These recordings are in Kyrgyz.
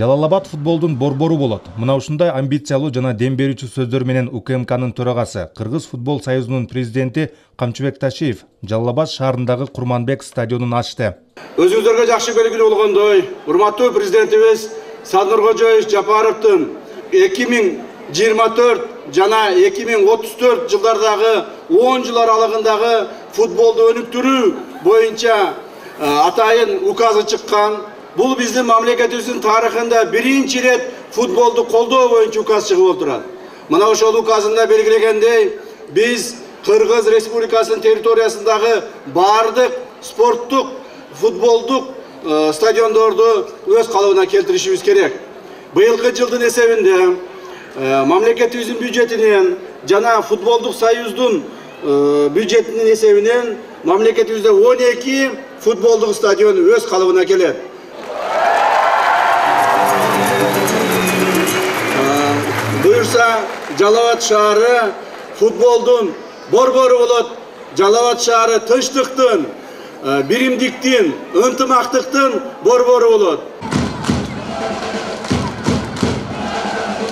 Жалал-Абад футболдун борбору болот. Мына ушундай амбициялуу жана дем берүүчү сөздөр менен УКМКнын төрагасы, Кыргыз футбол союзунун президенти Камчыбек Ташиев Жалал-Абад шаарындагы Курманбек стадионун ачты. Өзүңүздөргө жакшы белгилүү болгондой, урматтуу президентибиз Саднуркожоевич Жапаровдун 2024 жана 2034 жылдардагы 10 жыл аралыгындагы футболду өнүктүрүү боюнча атайын указы чыккан. Бул биздин мамлекетибиздин тарыхында биринчи рет футболду колдоо боюнча указ чыгып отурат. Мына ошол указында белгилегендей, биз Кыргыз Республикасынын территориясындагы бардык спорттук, футболдук стадиондорду өз калыбына келтиришибиз керек. Быйылкы жылдын эсебинде мамлекетибиздин бюджетинен жана футболдук союздун бюджетинин эсебинен мамлекетибизде 12 футболдук стадион өз калыбына келет. Буюрса, Жалал-Абад шаары футболдун борбору болот. Жалал-Абад шаары тынчтыктын, биримдиктин, ынтымактыктын борбору болот.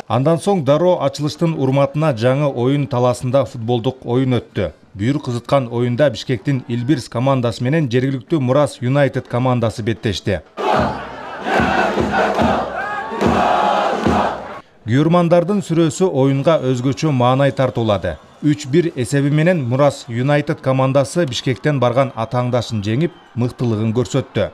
Андан соң дароо ачылыштын урматына жаңы оюн талаасында футболдук оюн өттү. Бүйүр кызыткан оюнда Бишкектин Илбирс командасы менен жергиликтүү Мурас Юнайтед командасы беттешти. Күйөрмандардын сүрөсү оюнга өзгөчө маанай тартуулады. 3-1 эсеби менен Мурас Юнайтед командасы Бишкектен барган атааңдашын жеңип, мыктылыгын көрсөттү.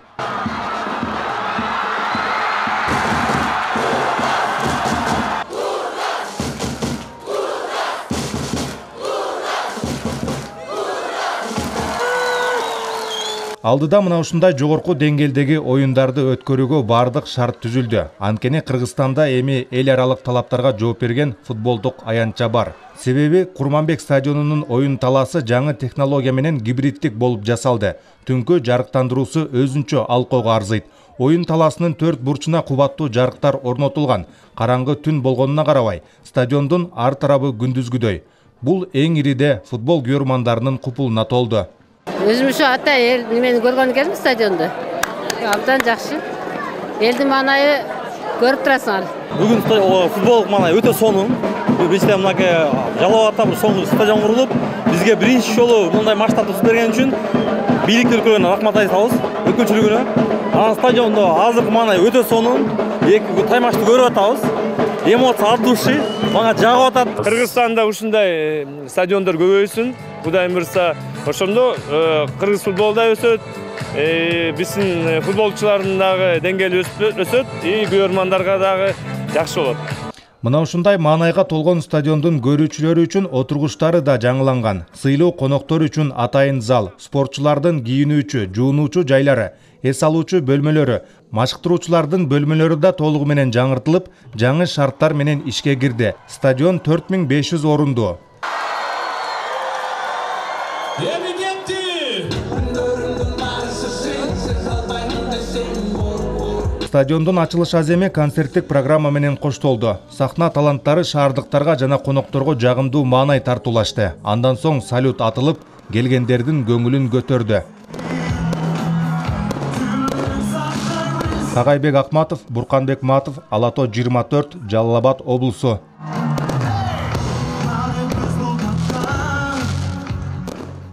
Алдыда мына ушундай жогорку деңгээлдеги оюндарды өткөрүүгө бардык шарт түзүлдү. Анткени Кыргызстанда эми эл аралык талаптарга жооп берген футболдук аянтча бар. Себеби Курманбек стадионунун оюн талаасы жаңы технология менен гибридтик болуп жасалды. Түнкү жарыктандыруусу өзүнчө алкоого арзыйт. Оюн талаасынын 4 бурчуна кубаттуу жарыктар орнотулган. Караңгы түн болгонуна карабай, стадиондун ар тарабы күндүзгүдөй. Бул эң ириде футбол күйөрмандарынын купулуна толду. Өзүм ушу ата эл немени көргөн келдим стадионду. Абдан жакшы. Элдин маанайы көрүп турасыңар. Бүгүн футболдук маанай өтө сонун. Бизде мынакей Жалал-Абадта бир соңку стадион курулуп, бизге биринчи жолу мындай масштабты түзүп берген үчүн бийлик өлкөлөрүнө рахмат айтабыз, өкүлчүлүгүнө. Анан стадиондо азыркы маанай өтө сонун. Эки таймашты көрүп атабыз. Эмоция от души, мага жагып атат. Кыргызстанда ушундай стадиондор көбөйсүн. Кудайым буйрса, ошондо кыргыз футболу да өсөт, биздин футболчулардын дагы деңгээли өсөт, күйөрмандарга дагы жакшы болот. Мына ушундай маанайга толгон стадиондун көрүүчүлөрү үчүн отургучтары да жаңыланган. Сыйлуу коноктор үчүн атайын зал, спортчулардын кийинүүчү, жуунуучу жайлары, эс алуучу бөлмөлөрү, машыктыруучулардын бөлмөлөрү да толугу менен жаңыртылып, жаңы шарттар менен ишке кирди. Стадион 4500 орунду. Стадиондун ачылыш аземи концерттик программа менен коштолду. Сахна таланттары шаардыктарга жана конокторго жагымдуу маанай тартуулашты. Андан соң салют атылып, келгендердин көңүлүн көтөрдү. Кагайбек Акматов, Бурканбек Матов, Ала Тоо 24, Жалал-Абад облусу.